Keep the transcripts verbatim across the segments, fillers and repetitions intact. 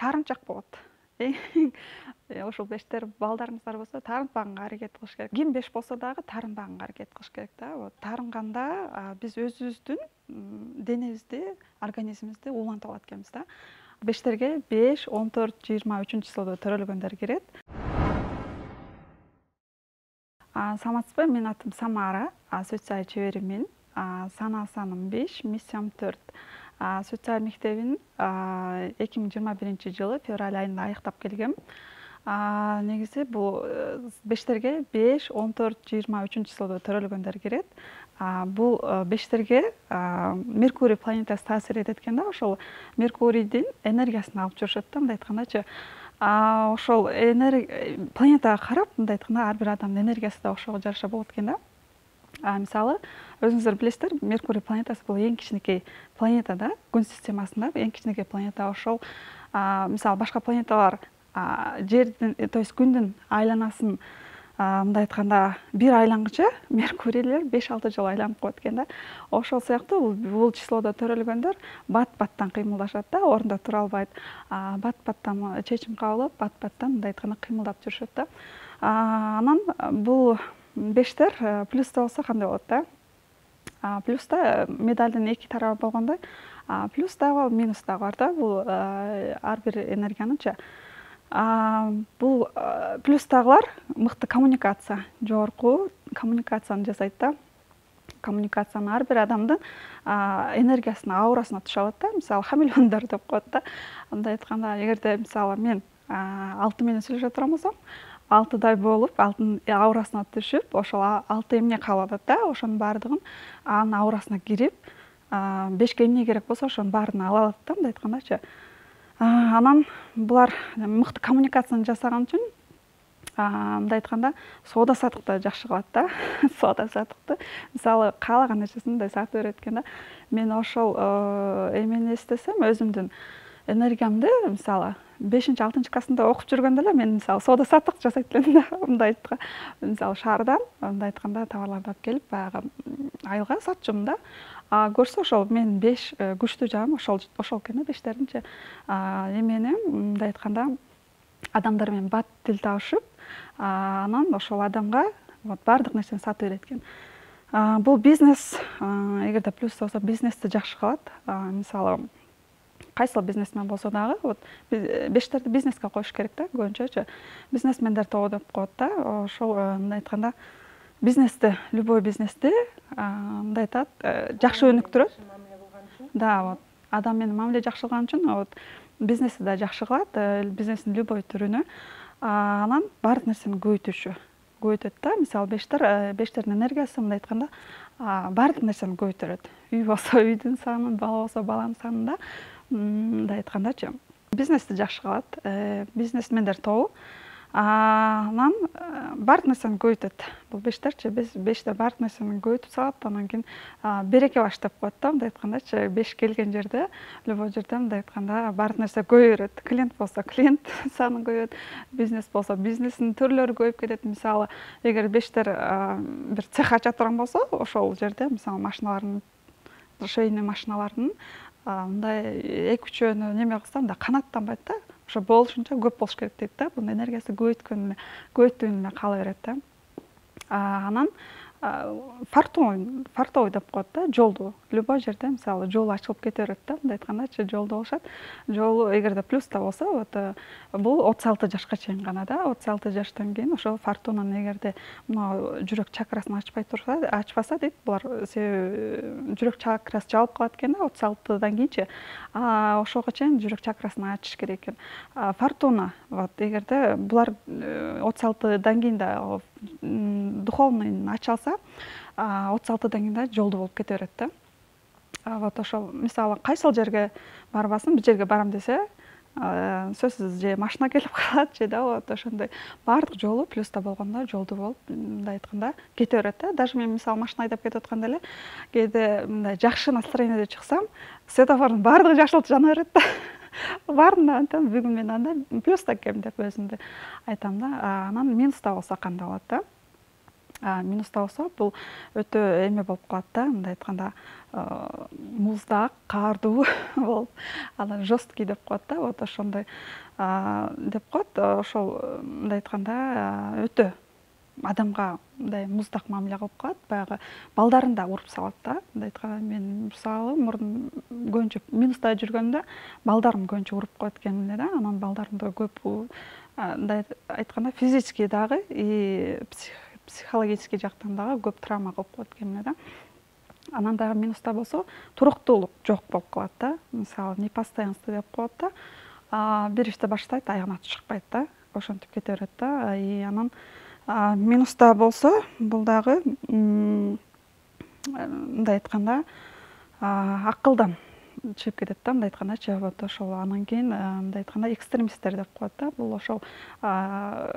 таарынчак болот. Ошол бештер балдарыңыздар болсо таарынтпаганга аракет кылыш керек. Ким беш болсо дагы таарынбаганга аракет кылыш керек да. Вот таарынганда биз өзүбүздүн денебизди, организмибизди улантып алат экенбиз да. Бештерге беш, он төрт, жыйырма үчүнчү числодо төрөлгөндөр кирет. Саламатсызбы? Менин атым Самара, сүт сай чеберимин. Санаа саным беш, миссиям төрт. Сүт сай мектебин эки миң жыйырма биринчи жылы февраль айында аяктап келгем. Негизи бул бештерге беш, он төрт, жыйырма үчүнчү числодо төрөлгөндөр кирет. Бул бештерге Меркурий планетасы таасир этет экен да, ошол Меркурийдин энергиясын алып жүрүшөт да, мындай айткандачы. Ошол планетага карап, мындай айтканда, ар бир адамдын энергиясы да ошого жараша болот экен да. Мисалы, өзүңүздөр билесиздер, Меркурий планетасы бул эң кичинекей планета да, күн системасында эң кичинекей планета. Ошол, мисалы, башка планеталар жердин, то есть күндүн айланасын мындай айтканда бир айлангыча Меркурийлер беш алты жолу айланып коет экен да. Ошол сыяктуу бул числодо төрөлгөндөр бат-баттан кыймылдашат да, ордунда тура албайт. Бат-баттан чечим кабыл алып, бат-баттан мындай айтканда кыймылдап жүрүшөт да. Анан бул бештер плюста болсо кандай болот да? Плюста медалдын эки тарабы болгондой, плюс дагы, минус дагы бар да. Бул ар бир энергиянычы. Бул плюстагылар мыкты коммуникация, жогорку коммуникацияны жасайт да. Коммуникацияны ар бир адамдын энергиясына, аурасына түшүп алат да. Мисалы, хамелеондор деп коет да. Мындай айтканда, эгерде мисалы мен алты менен сүйлөшө турган болсом, алтыдай болуп, алтынын аурасына түшүп, ошол алты эмне кабыл алат да, ошонун баардыгын анын аурасына кирип, бешке эмне керек болсо ошонун баарын ала алат да, мындай айткандачы. Анан булар мыкты коммуникацияны жасаган үчүн, мындай айтканда, соода саттыкты жакшы кылат да. Соода саттыкты. Мисалы, каалаган нерсесин мындай сатып берет экен да. Мен ошол эмени эстесем, өзүмдүн энергиямды, мисалы, бешинчи, алтынчы классында окуп жүргөндө эле мен мисалы соода саттык жасайт элем да. Мындай айтканда, мисалы, шаардан мындай айтканда товарларды алып келип, баягы айылга сатчумун да. Көрсө ошол мен беш күчтүү жагым ошол ошол экен да, бештеринчи. Эмени мындай айтканда адамдар менен бат тил табышып, анан ошол адамга вот баардык нерсени сатып берет экен. Бул бизнес, эгерде плюс болсо, бизнести жакшы кылат. Мисалы, кайсыл бизнесмен болсо дагы, вот бештерди бизнеске коюш керек да, көбүнчөчү. Бизнесмендер тобу деп коет да. Ошол мындай айтканда бизнести, любой бизнести мындай айтат, жакшы өнүктүрөт. Да, вот адам менен мамиле жакшы кылган үчүн, вот бизнести да жакшы кылат, бизнестин любой түрүнө. Анан баардык нерсени көбөйтүшү, көбөйтөт да. Мисалы, бештер, бештердин энергиясы мындай айтканда баардык нерсени көбөйтөрөт. Үй болсо үйдүн санын, бала болсо баланын санын да, мындай айткандачы. Бизнести жакшы кылат, бизнесмендер тобу. Анан баардык нерсени көбөйтөт. Бул бештерчи, бештер баардык нерсени көбөйтүп салат, анан кийин береке баш деп коет да, мындай айткандачы. Беш келген жерде, любой жерде мындай айтканда баардык нерсе көбөйөрөт. Клиент болсо клиент саны көбөйөт, бизнес болсо бизнестин түрлөрү көбөйүп кетет. Мисалы, эгер бештер бир цех ача турган болсо, ошол жерде мисалы машиналардын, швейный машиналардын мындай эки үчөөнү неме кылса, мындай канаттанбайт да. Ошо болушунча көп болуш керек дейт да. Бунун энергиясы көбөйткөн эле, көбөйттүгүн эле кала берет да. Анан фартовый, фартовый деп коет да, жолду. Любой жерде, мисалы, жол ачылып кете берет да, мындай айткандачы, жолду болушат. Жолу эгерде плюста болсо, вот бул отуз алты жашка чейин гана да. отуз алты жаштан кийин ошо фортунаны эгерде мына жүрөк чакрасын ачпай турса, ачпаса дейт, булар жүрөк чакрасы жабылып калат экен да, отуз алтыдан кийинчи. Ошого чейин жүрөк чакрасын ачыш керек экен. Фортуна, вот эгерде булар отуз алтыдан кийин да духовный ачалса, отуз алтыдан кийин да жолду болуп кете берет да. Вот ошол, мисалы, кайсыл жерге барбасын, бир жерге барам десе, сөзсүз же машина келип калат, же да вот ошондой баардык жолу плюста болгондо жолду болуп, мындай айтканда кете берет да. Даже мен мисалы машина айдап кетип атканда эле, кээде мындай жакшы настроениеде чыксам, светофордун баардыгы жашылып жана берет да. Баарына айтам, бүгүн мен андай плюста экенмин деп өзүмдү айтам да. Анан минуста болсо кандай болот да? Минуста болсо бул өтө эме болуп калат да, мындай айтканда муздак, каардуу болуп, анан жесткий деп коет да, вот ошондой деп коет. Ошол мындай айтканда өтө адамга мындай муздак мамиле кылып калат, баягы балдарын да уруп салат да. Мындай айтканда мен мисалы мурун көбүнчө Минуста жүргөндө балдарым көбүнчө уруп коет экен эле да, анан балдарымда көп мындай айтканда физически дагы и психологический жактан дагы көп травма кылып коет экен эле да. Анан дагы Минуста болсо туруктуулук жок болуп калат да. Мисалы непостоянство деп коет да. Бир ишти баштайт, аягына чыкпайт да, ошентип кете берет да. И анан Минуста болсо бул дагы мындай айтканда акылдан чыгып кетет да, мындай айткандачы. Вот ошол анан кийин мындай айтканда экстремисттер деп коет да. Бул ошол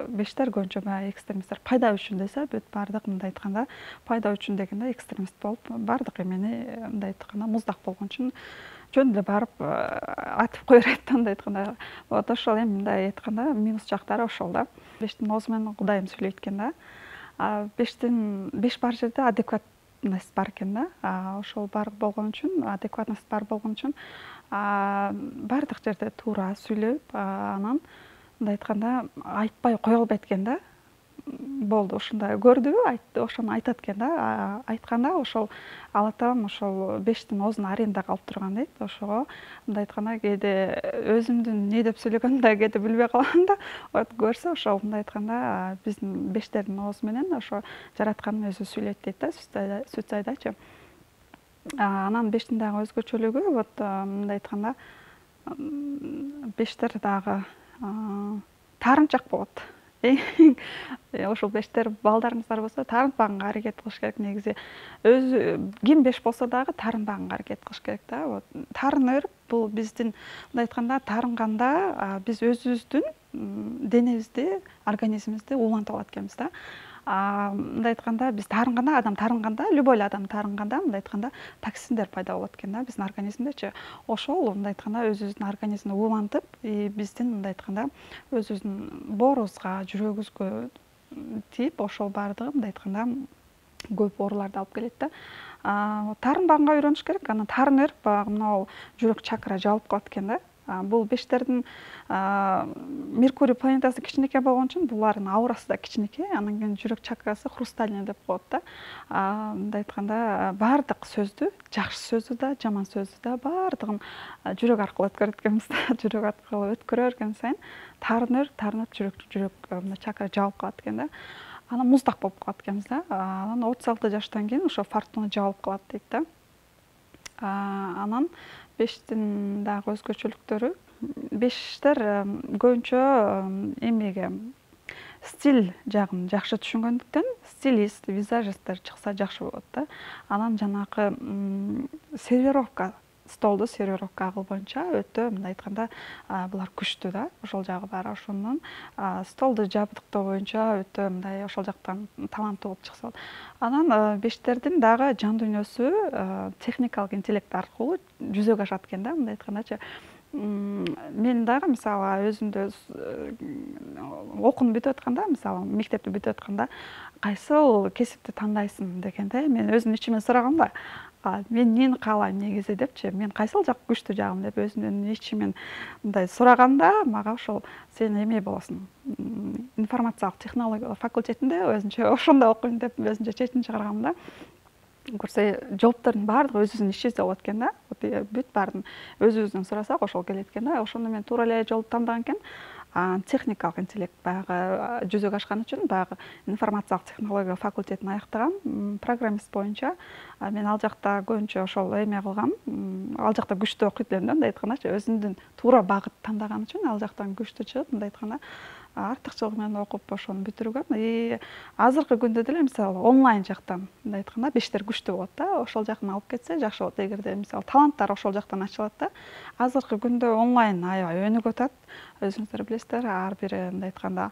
бештер көбүнчө баягы экстремисттер пайда үчүн десе, бүт баардык мындай айтканда пайда үчүн дегенде экстремист болуп, баардык эмени мындай айтканда муздак болгон үчүн жөн эле барып атып кое берет да, мындай айтканда. Вот ошол эми мындай айтканда минус жактары ошол да. Бештин оозу менен Кудайым сөйлөйт экен да. Бештин беш бар жерде адекватность бар экен да. Ошол бар болгон үчүн, адекватность бар болгон үчүн баардык жерде туура сүйлөп, анан мындай айтканда айтпай кое албайт экен да. Болду, ушундай көрдүбү, айтты, ошону айтат экен да. Айтканда ошол Алла таалам ошол бештин оозун арендага алып турган дейт. Ошого мындай айтканда кээде өзүмдүн эмне деп сүйлөгөндүмдү да кээде билбей калам да. Вот көрсө ошол мындай айтканда биздин бештердин оозу менен ошо жараткандын өзү сүйлөйт дейт да, сүтсайдачы. Анан бештин дагы өзгөчөлүгү, вот мындай айтканда бештер дагы таарынчак болот. Ошол бештер балдарыбыздар болсо таарынтпаганга аракет кылыш керек негизи. Өзү ким беш болсо дагы таарынбаганга аракет кылыш керек да. Вот таарына берип, бул биздин мындай айтканда таарынганда биз өзүбүздүн денебизди, организмибизди улантып алат экенбиз да. Мындай айтканда биз таарынганда, адам таарынганда, любой эле адам таарынганда мындай айтканда токсиндер пайда болот экен да биздин организмдечи. Ошол мындай айтканда өзүбүздүн организмди улантып, биздин мындай айтканда өзүбүздүн боорубузга, жүрөгүбүзгө тийип, ошол баардыгы мындай айтканда көп ооруларды алып келет да. Таарынбаганга үйрөнүш керек. Анан таарына берип, баягы мынау жүрөк чакра жабылып калат экен да. Бул бештердин Меркурий планетасы кичинекей болгон үчүн булардын аурасы да кичинекей, анан кийин жүрөк чакрасы хрустальный деп коет да. Мындай айтканда баардык сөздү, жакшы сөздү да, жаман сөздү да баардыгын жүрөк аркылуу өткөрөт экенбиз да. Жүрөк аркылуу өткөрө берген сайын таарынып, таарынып жүрөк жүрөк мындай чакра жабылып калат экен да. Анан муздак болуп калат экенбиз да. Анан отуз алты жаштан кийин ошо фортуна жабылып калат дейт да. Анан бештин дагы өзгөчөлүктөрү, бештер көбүнчө эмеге стиль жагын жакшы түшүнгөндүктөн стилист, визажисттер чыкса жакшы болот да. Анан жанагы сервировка, столду сервировка кылганча өтө мындай айтканда булар күчтүү да. Ошол жагы бар. Ошондон столду жабдыктоо боюнча өтө мындай ошол жактан таланттуу болуп чыкса болот. Анан бештердин дагы жан дүйнөсү техникалык интеллект аркылуу жүзөгө ашат экен да, мындай айткандачы. Мен дагы мисалы өзүмдү окууну бүтүп атканда, мисалы мектепти бүтүп атканда кайсыл кесипти тандайсың дегенде мен өзүмдүн ичимен сурагам да. Мен эмнени каалайм негизи депчи, мен кайсыл жак күчтүү жагым деп өзүмдүн ичимен мындай сураганда, мага ошол сен эме болосуң, информациялык технология факультетинде өзүнчө ошондо окуйм деп өзүнчө чечим чыгаргам да. Көрсө жооптордун баардыгы өзүбүздүн ичибизде болот экен да. Бүт баарын өзүбүздөн сурасак ошол келет экен да. Ошондо мен туура эле жолду тандаган экен. Техникалык интеллект баягы жүзөгө ашкан үчүн баягы информациялык технология факультетин аяктагам, программист боюнча. Мен ал жакта көбүнчө ошол эме кылгам, ал жакта күчтүү окуйт элем да, мындай айткандачы, өзүмдүн туура багыт тандаган үчүн ал жактан күчтүү чыгып, мындай айтканда артыкчылык менен окуп ошону бүтүргөм. И азыркы күндө деле мисалы онлайн жактан мындай айтканда бештер күчтүү болот да. Ошол жактан алып кетсе жакшы болот. Эгерде мисалы таланттар ошол жактан ачылат да. Азыркы күндө онлайн аябай өнүгүп атат. Өзүңүздөр билесиздер, ар бир мындай айтканда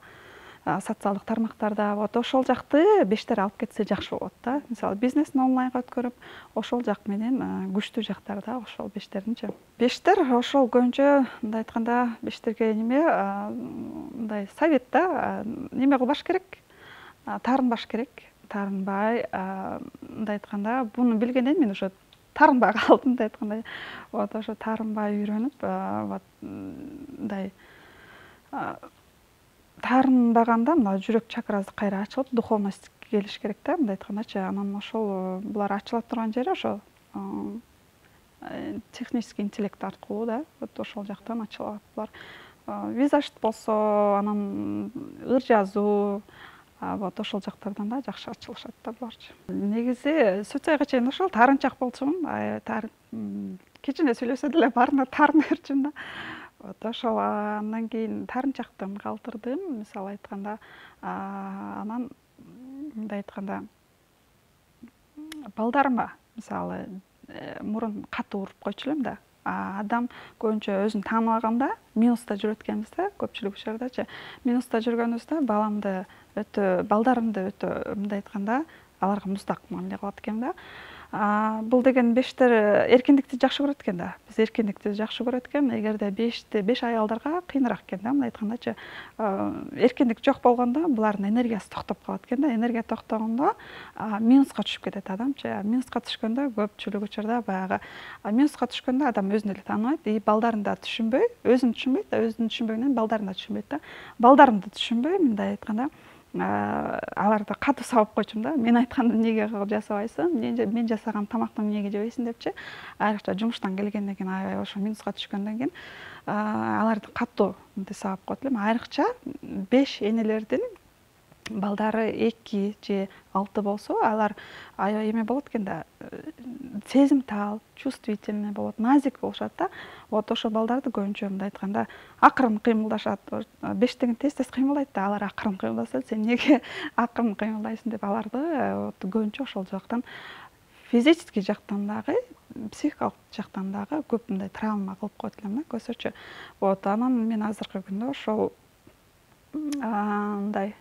социалдык тармактарда вот ошол жакты бештер алып кетсе жакшы болот да. Мисалы бизнесин онлайнга өткөрүп, ошол жак менен күчтүү жактары да ошол бештердинчи. Бештер ошол көбүнчө мындай айтканда бештерге неме мындай совет да, неме кылбаш керек, таарынбаш керек. таарынбай, мындай айтканда, буну билгенден мен ошо таарынбай калдым, мындай айтканда. Вот ошо таарынбай үйрөнүп, вот мындай таарынбаганда мына жүрөк чакрасы кайра ачылып, духовность келиш керек да, мындай айткандачы. Анан ошол булар ачыла турган жери ошол технический интеллект аркылуу да, вот ошол жактан ачылат булар. Визажист болсо, анан ыр жазуу, вот ошол жактардан да жакшы ачылышат да буларчы. Негизи сүт сайга чейин ошол таарынчак болчумун. Кичине сүйлөсө деле баарына таарына берчүмүн да. Вот ошол андан кийин таарынчактан калтырдым, мисалы айтканда, анан мындай айтканда балдарыма мисалы мурун катуу уруп койчу элем да. Адам көбүнчө өзүн тааныбаганда минуста жүрөт экенбиз да, көпчүлүк учурдачы. Минуста жүргөнүбүздө баламды өтө, балдарымды өтө мындай айтканда аларга муздак мамиле кылат экенмин да. Бул деген бештер эркиндикти жакшы көрөт экен да. Биз эркиндикти жакшы көрөт экен, эгерде бешти беш аялдарга кыйыныраак экен да, мындай айткандачы. Эркиндик жок болгондо булардын энергиясы токтоп калат экен да. Энергия токтогондо минуска түшүп кетет адамчы. Минуска түшкөндө көпчүлүк учурда баягы минуска түшкөндө адам өзүн эле тааныбайт, и балдарын да түшүнбөй, өзүн түшүнбөйт да, өзүн түшүнбөгөндөн балдарын да түшүнбөйт да. Балдарымды түшүнбөй, мындай айтканда, аларды катуу сабап койчумун да. Мен айтканды эмнеге жасабайсың, мен жасаган тамакты эмнеге жебейсиң депчи. Айрыкча жумуштан келгенден кийин аябай ошо минуска түшкөндөн кийин аларды катуу мынтип сабап койт элем. Айрыкча беш энелердин балдары эки же алты болсо, алар аябай эме болот экен да, сезимтал, чувствительный болот, назик болушат да. Вот ошол балдарды көбүнчө мындай айтканда акырын кыймылдашат. Бештеген тез-тез кыймылдайт да, алар акырын кыймылдаса, сен эмнеге акырын кыймылдайсың деп аларды көбүнчө ошол жактан, физический жактан дагы, психикалык жактан дагы көп мындай травма кылып койт элем да, көзөчө. Вот анан мен азыркы күндө ошол мындай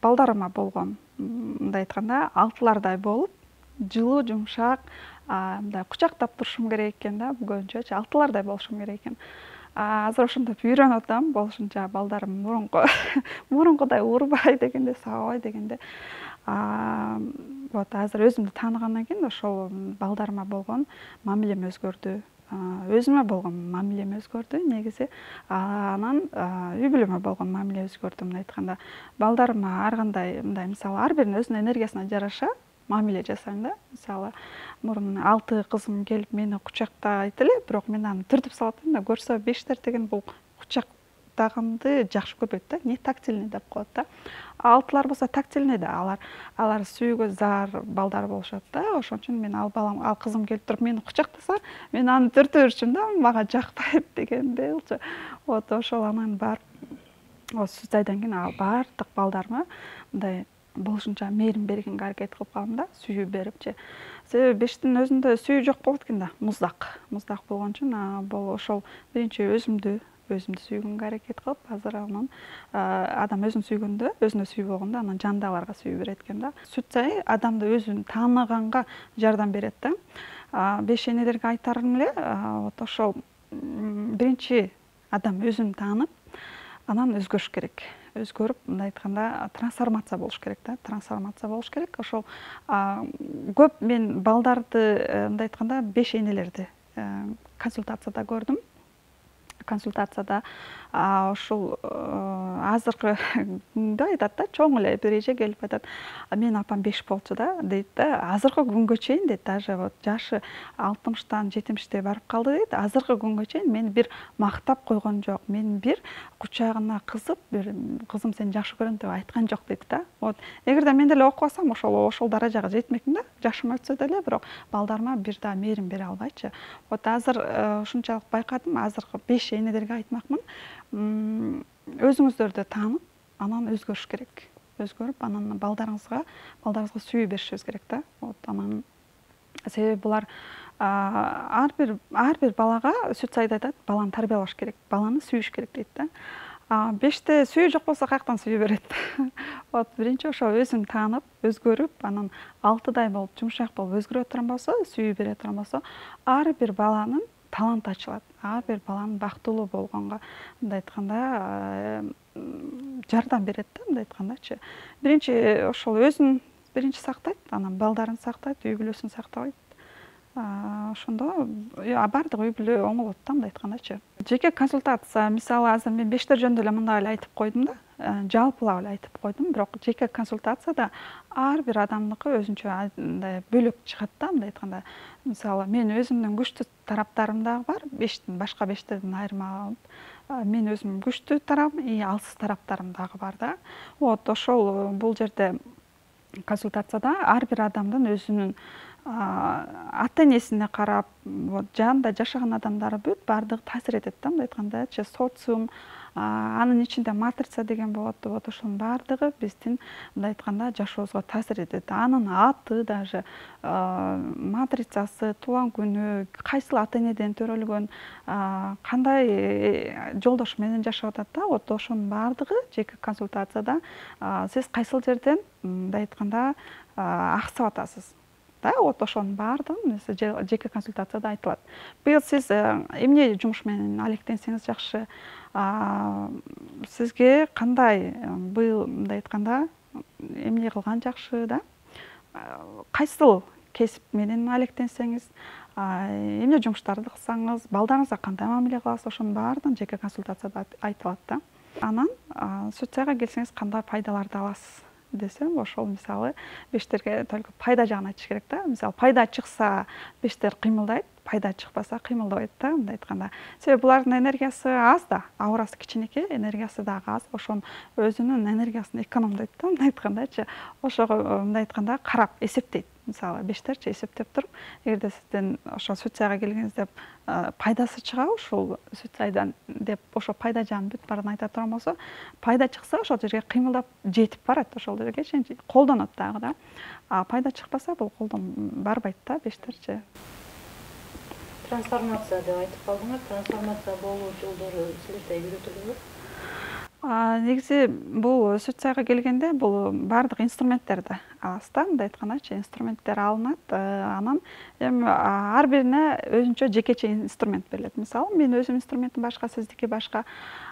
балдарыма болгон мындай айтканда алтылардай болуп, жылуу, жумшак, мындай кучактап турушум керек экен да, көбүнчөчү алтылардай болушум керек экен. Азыр ошентип үйрөнүп атам, болушунча балдарым мурунку мурункудай урбай дегенде, сабабай дегенде. Вот азыр өзүмдү тааныгандан кийин ошол балдарыма болгон мамилем өзгөрдү. Өзүмө болгон мамилем өзгөрдү негизи. Анан үй бүлөмө болгон мамиле өзгөрдү, мындай айтканда. Балдарыма ар кандай мындай, мисалы, ар биринин өзүнүн энергиясына жараша мамиле жасайм да. Мисалы, мурун алты кызым келип мени кучактайт эле, бирок мен аны түртүп салат элем да. Көрсө бештер деген бул кучактаганды жакшы көрбөйт да, не тактильный деп коет да. Алтылар болсо тактильный да, алар алар сүйүүгө зар балдар болушат да. Ошон үчүн мен ал балам, ал кызым келип туруп мени кучактаса, мен аны түртө берчүмүн да, мага жакпайт дегендейчи. Вот ошол анан бар сүт айдан кийин ал баардык балдарыма мындай болушунча мээрим бергенге аракет кылып калдым да, сүйүү берипчи. Себеби бештин өзүндө сүйүү жок болот экен да, муздак. Муздак болгон үчүн бул ошол биринчи өзүмдү өзүмдү сүйгөнгө аракет кылып, азыр анан адам өзүн сүйгөндө, өзүнө сүйүү болгондо анан жандагыларга сүйүү берет экен да. Сүт сай адамды өзүн тааныганга жардам берет да. Беш энелерге айтарым эле, вот ошол биринчи адам өзүн таанып, анан өзгөрүш керек. Өзгөрүп, мындай айтканда, трансформация болуш керек да, трансформация болуш керек. Ошол көп мен балдарды, мындай айтканда, беш энелерди консультацияда көрдүм. Консультацияда ошол азыркы күндө айтат да, чоң эле бир эже келип айтат, менин апам беш болчу да, дейт да. Азыркы күнгө чейин дейт, даже вот жашы алтымыштан жетимиште барып калды дейт. Азыркы күнгө чейин мени бир мактап койгон жок, мени бир кучагына кызып, бир кызым сени жакшы көрөм деп айткан жок дейт да. Вот эгерде мен деле окубасам, ошол ошол даражага жетмекмин да. Жашым өтсө деле, бирок балдарыма бир да мээрим бере албайчы. Вот азыр ушунчалык байкадым, азыркы беш энелерге айтмакмын, өзүңүздөрдү таанып, анан өзгөрүш керек. Өзгөрүп, анан балдарыңызга, балдарыңызга сүйүү беришибиз керек да. Вот анан себеби булар ар бир ар бир балага сүт сайда айтат, баланы тарбиялаш керек, баланы сүйүш керек дейт да. Беште сүйүү жок болсо каяктан сүйүү берет? Вот биринчи ошо өзүн таанып, өзгөрүп, анан алтыдай болуп, жумшак болуп өзгөрө турган болсо, сүйүү бере турган болсо, ар бир баланын талант ачылат. Ар бир баланын бактылуу болгонго мындай айтканда жардам берет да, мындай айткандачы. Биринчи ошол өзүн биринчи сактайт, анан балдарын сактайт, үй бүлөсүн сактабайт. Ошондо баардык үй бүлө оңолот да, мындай айткандачы. Жеке консультация, мисалы азыр мен бештер жөнүндө эле мындай эле айтып койдум да, жалпылап эле айтып койдум, бирок жеке консультацияда ар бир адамдыкы өзүнчө мындай бөлөк чыгат да, мындай айтканда. Мисалы мен өзүмдүн күчтүү тараптарым дагы бар, бештин башка бештерден айырмаланып, мен өзүм күчтүү тарабым и алсыз тараптарым дагы бар да. Вот ошол бул жерде консультацияда ар бир адамдын өзүнүн ата энесине карап, жанында жашаган адамдары бүт баардыгы таасир этет да, мындай айткандачы, социум, анын ичинде матрица деген болот, вот ошонун баардыгы биздин мындай айтканда жашообузга таасир этет. Анын аты даже, матрицасы, туулган күнү, кайсыл ата энеден төрөлгөн, кандай жолдош менен жашап атат да, вот ошонун баардыгы жеке консультацияда сиз кайсыл жерден мындай айтканда аксап атасыз. Да, вот ошонун баардыгы жеке консультацияда айтылат. Быйыл сиз эмне жумуш менен алектенсеңиз жакшы, сизге кандай быйыл мындай айтканда эмне кылган жакшы да? Кайсыл кесип менен алектенсеңиз, эмне жумуштарды кылсаңыз, балдарыңызга кандай мамиле кыласыз, ошонун баардыгын жеке консультацияда айтылат да. Анан социяга келсеңиз кандай пайдаларды аласыз десем, ошол мисалы бештерге только пайда жагын айтыш керек да. Мисалы пайда чыкса бештер кыймылдайт, пайда чыкпаса кыймылдабайт да, мындай айтканда. Себеби булардын энергиясы аз да, аурасы кичинекей, энергиясы дагы аз. Ошонун өзүнүн энергиясын экономдойт да, мындай айткандачы. Ошого мындай айтканда карап эсептейт. Мисалы бештерчи эсептеп туруп, эгерде сизден ошо социяга келгениңизде пайдасы чыгабы ушул социядан деп ошо пайда жагын бүт баарын айта турган болсо, пайда чыкса ошол жерге кыймылдап жетип барат, ошол жергечи колдонот дагы да. А пайда чыкпаса бул колдон барбайт да бештерчи. Трансформация деп айтып калдыңыз. Трансформация болуу жолдору силерде үйрөтүлөбү? Негизи бул социяга келгенде бул баардык инструменттерди аласыз да, мындай айткандачы, инструменттер алынат, анан эми ар бирине өзүнчө жекече инструмент берилет. Мисалы, мен өзүм инструментим башка, сиздики башка.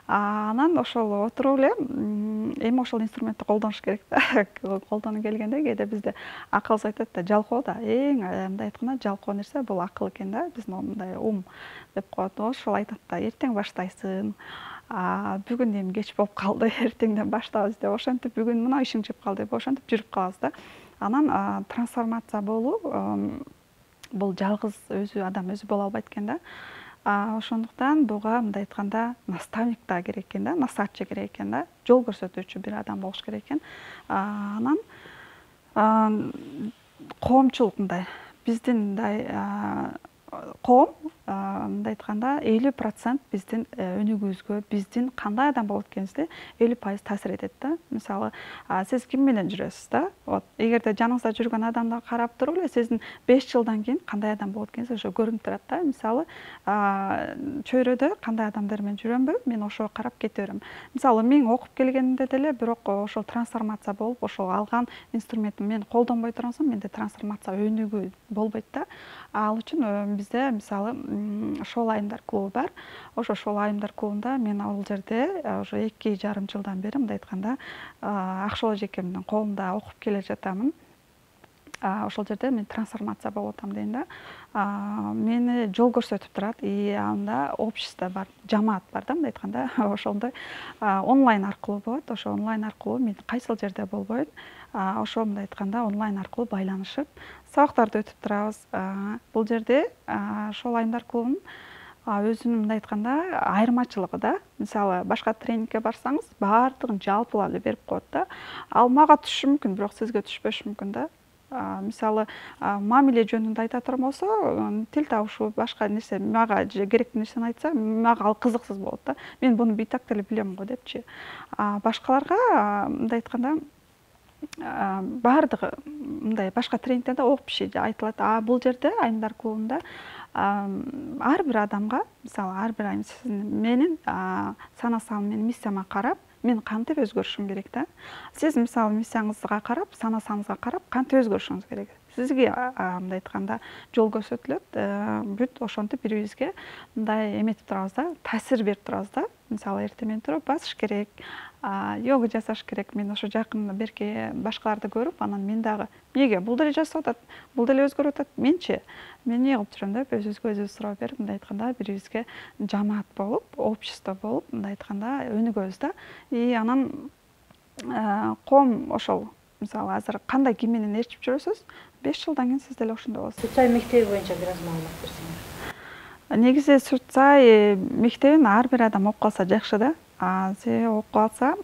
Анан ошол отуруп эле эми ошол инструментти колдонуш керек да. Колдоно келгенде кээде бизде акылыбыз айтат да, жалкоо да, эң мындай айтканда жалкоо нерсе бул акыл экен да, биздин мындай ум деп коет. Ошол айтат да, эртең баштайсың. Бүгүн эми кеч болуп калды, эртеңден баштабыз деп, ошентип бүгүн мына ишиң чыгып калды деп, ошентип жүрүп калабыз да. Анан трансформация болуу бул жалгыз өзү адам өзү боло албайт экен да. Ошондуктан буга мындай айтканда наставник да керек экен да, насаатчы керек экен да, жол көрсөтүүчү бир адам болуш керек экен. Анан коомчулук мындай биздин мындай коом мындай айтканда элүү процент биздин өнүгүүбүзгө, биздин кандай адам болот экенибизди элүү пайыз таасир этет да. Мисалы, сиз ким менен жүрөсүз да? Вот эгерде жаныңызда жүргөн адамды карап туруп эле сиздин беш жылдан кийин кандай адам болот экениңиз ошо көрүнүп турат да. Мисалы, чөйрөдө кандай адамдар менен жүрөмбү, мен ошого карап кете берем. Мисалы, мен окуп келгенимде деле бирок ошол трансформация болуп, ошол алган инструментин мен колдонбой турган соң менде трансформация өнүгүү болбойт да. Ал үчүн бизде мисалы шоол айымдар клубу бар. Ошо шоол айымдар клубунда мен ал жерде уже эки жарым жылдан бери мындай айтканда Акшол эжекемдин колунда окуп келе жатамын. Ошол жерде мен трансформация болуп атам дейм да. Мени жол көрсөтүп турат. И анда общество бар, жамаат бар да, мындай айтканда. Ошондой онлайн аркылуу болот. Ошо онлайн аркылуу мен кайсыл жерде болбойн, ошо мындай айтканда онлайн аркылуу байланышып, сабактарды өтүп турабыз. Бул жерде шоол айымдар клубунун өзүнүн мындай айтканда айырмачылыгы да. Мисалы, башка тренингке барсаңыз, баардыгын жалпылап эле берип коет да. Ал мага түшүшү мүмкүн, бирок сизге түшпөшү мүмкүн да. Мисалы, мамиле жөнүндө айта турган болсо, тил табышуу, башка нерсе, мага керектүү нерсени айтса, мага ал кызыксыз болот да. Мен буну битак деле билем го депчи. Башкаларга мындай айтканда баардыгы мындай башка тренингтерде общий айтылат. А бул жерде айымдар клубунда ар бир адамга, мисалы, ар бир айым менин сана-саным менен миссияма карап, мен кантип өзгөрүшүм керек да. Сиз мисалы миссияңызга карап, сана-саныңызга карап, кантип өзгөрүшүңүз керек. сизге мындай айтканда жол көрсөтүлөт. Бүт ошентип бири бирибизге мындай эметип турабыз да, таасир берип турабыз да. Мисалы эртең менен туруп басыш керек, йога жасаш керек. Мен ошо жакын берки башкаларды көрүп, анан мен дагы эмнеге бул деле жасап атат, бул деле өзгөрүп атат, менчи мен эмне кылып жүрөм деп өзүбүзгө өзүбүз суроо берип, мындай айтканда бири бирибизге жамаат болуп, общество болуп, мындай айтканда өнүгөбүз да. И анан коом ошол мисалы азыр кандай ким менен ээрчип жүрөсүз, беш жылдан кийин сиз деле ошондой болосуз. Сүт Сай мектеби боюнча бир аз маалымат берсеңиз. Негизи Сүт Сай мектебин ар бир адам окуп калса жакшы да. Себеби окуп калса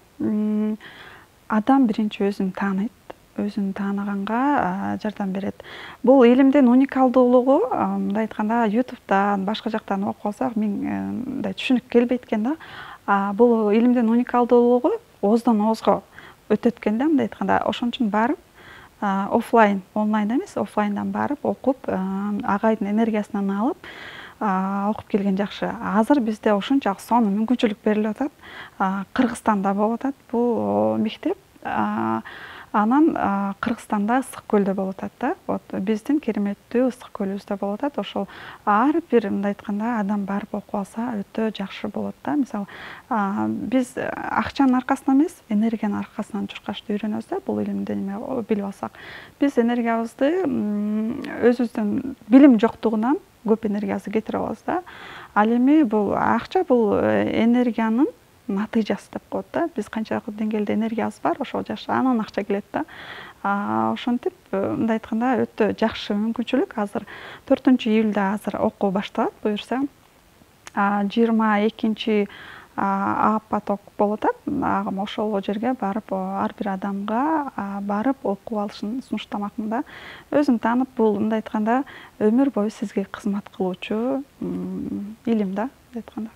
адам биринчи өзүн тааныйт, өзүн тааныганга жардам берет. Бул илимдин уникалдуулугу мындай айтканда ютубтан, башка жактан окуп калсак мындай түшүнүк келбейт экен да. Бул илимдин уникалдуулугу ооздон оозго өтөт экен да, мындай айтканда. Ошон үчүн барып офлайн, онлайн эмес, офлайндан барып окуп, агайдын энергиясынан алып окуп келген жакшы. Азыр бизде ошончалык сонун мүмкүнчүлүк берилип атат. Кыргызстанда болуп атат бул мектеп. Анан Кыргызстанда Ысык көлдө болуп атат да. Вот биздин кереметтүү Ысык көлүбүздө болуп атат. Ошол ар бир мындай айтканда адам барып окуп алса өтө жакшы болот да. Мисалы, биз акчанын аркасынан эмес, энергиянын аркасынан чуркашты үйрөнөбүз да, бул илимди эме билип алсак. Биз энергиябызды өзүбүздүн билим жоктугунан көп энергиябызды кетирип алабыз да. Ал эми бул акча бул энергиянын натыйжасы деп коет да. Биз канчалык деңгээлде энергиябыз бар, ошол жакшы анан акча келет да. Ошентип мындай айтканда өтө жакшы мүмкүнчүлүк. Азыр төртүнчү июлда азыр окуу башталат буюрса. жыйырма экинчи А поток болуп атат. Ошол жерге барып ар бир адамга барып окуп алышын сунуштамакмын да. Өзүн таанып, бул мындай айтканда өмүр бою сизге кызмат кылуучу илим да, мындай айтканда.